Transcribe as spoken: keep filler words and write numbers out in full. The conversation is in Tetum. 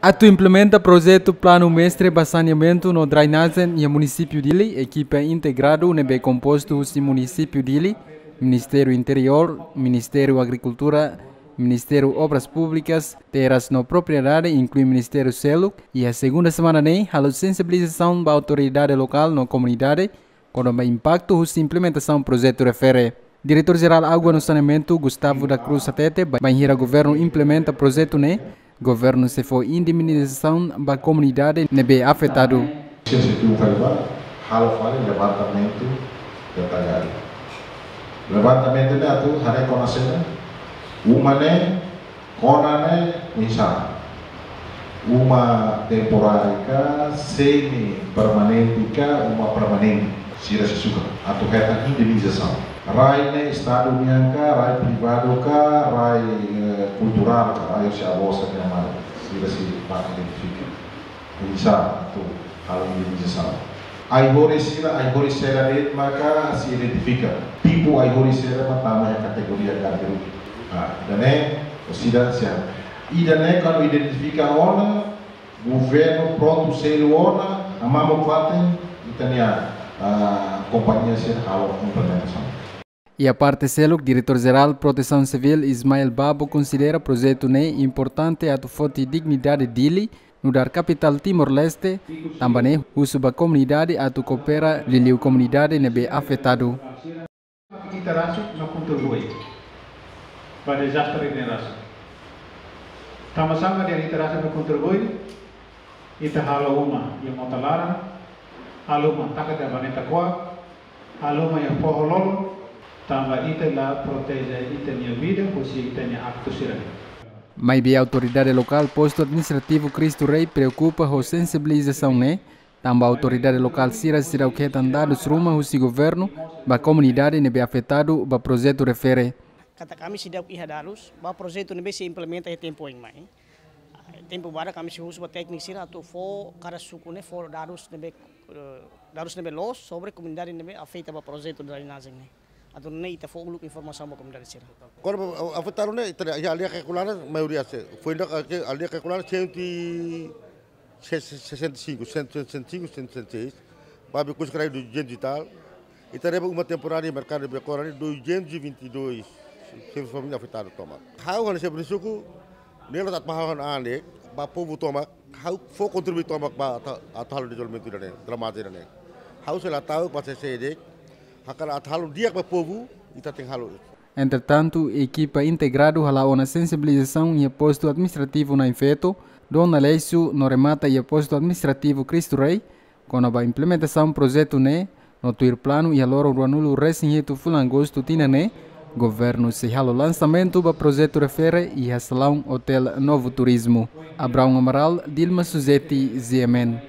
Atu implementa projetu planu mestre ba saneamentu no drainajen iha munisípiu Dili, ekipa integradu ne'ebé kompostu husi munisípiu Dili, Ministériu Interiór, Ministériu Agrikultura, Ministériu Obras Públikas, Terras no Propriedade, inklui ministériu seluk, iha segunda semana ne'e halo sensibilizasaun ba autoridade lokál no komunidade kona-ba impaktu husi implementasaun projetu refere. Diretór Jerál Água no Saneamentu, Gustavo da Cruz, hatete bainhira governu implementa projetu ne'e, governu sei fó indemnizasaun ba komunidade ne'ebé afetadu. Sira sei tun fali ba halo fali levantamentu detayadu. Levantamentu ne'e atu haree kona-ba uma ne'e, kona ne'e oinsá. Uma temporária ka, semi permanente ka, uma permanente. Sira sei sukat atu hetan indemnizasaun. Rai ne'e Estadu nian ka, rai privadu ka, rai, eh, kulturál ka, rai husi avó sira-nia mala. Sira sei bá identifika. Oinsá atu halo indemnizasaun. Ai-horis sira, ai-horis sira de'it maka sei identifika. Tipu ai-horis sira mak tama iha kategoria garbiru. Ah, ida-ne'e, sira sira. Ida-ne'e kuandu identifika ona, governu prontu selu ona, hamamuk fatin, ita-nia, ah, kompañia sira halo implementasaun. Iha parte seluk, Diretór Jerál Protesaun Sivíl Ismael Babo konsidera projetu ne'e importante atu foti dignidade Dili, nu'udar kapitál Timor-Leste, tanba ne'e husu ba komunidade atu koopera liuliu komunidade ne'ebé afetadu. Ita rasik no kontribui ba dezastre ne'e rasik. Tanba sá mak dehan ita rasik no kontribui, ita halo uma iha mota laran, halo uma taka iha baneta kuak, halo uma iha foho lolon, tanba ita la proteje ita-nia vida husi ita-nia aktu sira-ne'e. Maibé autoridade lokál postu administrativu Cristo Rei preokupa ho sensibilizasaun ne'e, tanba autoridade lokál sira seidauk hetan dadus ruma husi governu ba komunidade ne'ebé afetadu ba projetu refere. Katak ami seidauk iha dadus ba projetu ne'ebé sei implementa iha tempu oin mai. Tempu badak ami sei husu ba tékniku sira atu fó kada suku ne'e fó dadus ne'ebé, eh, dadus ne'ebé loos sobre komunidade ne'ebé afeta ba projetu drenajen ne'e. Atu nune'e ita fó uluk informasaun ba komunidade sira. Kona-ba afetadu ne'e, ita iha aldeia Kakulana, maioria sei. Foin ida ke aldeia Kakulana, cento e sessenta e cinco, cento e sessenta e cinco, cento e sessenta e seis. Ba Becus Crai, duzentos e tal. Ita haree ba uma temporária merkadu Becora ne'e, duzentos e vinte e dois. Sira família afetadu tomak. Ha'u hanesan xefe suku, ne'e la atu mahal han ande, ba povu tomak, ha'u fó kontribui tomak ba atu, atu halo dezenvolvimentu ida-ne'e, drenajen ida-ne'e. Ha'u sei la ta'uk ba C C D, hakarak atu halo di'ak ba povu, ita tenke halo. Entretantu, ekipa integradu hala'o ona sensibilizasaun iha postu administrativu Nain Feto, Dona Aleixo, no remata iha postu administrativu Cristo Rei, kona-ba implementasaun projetu ne'e, no tuir planu iha loron ruanulu resin hitu fulan Agostu tinan ne'e, governu sei halo lansamentu ba projetu refere iha salaun Hotel Novo Turismo. Abraão Amaral, Dilma Suzeti, G M N.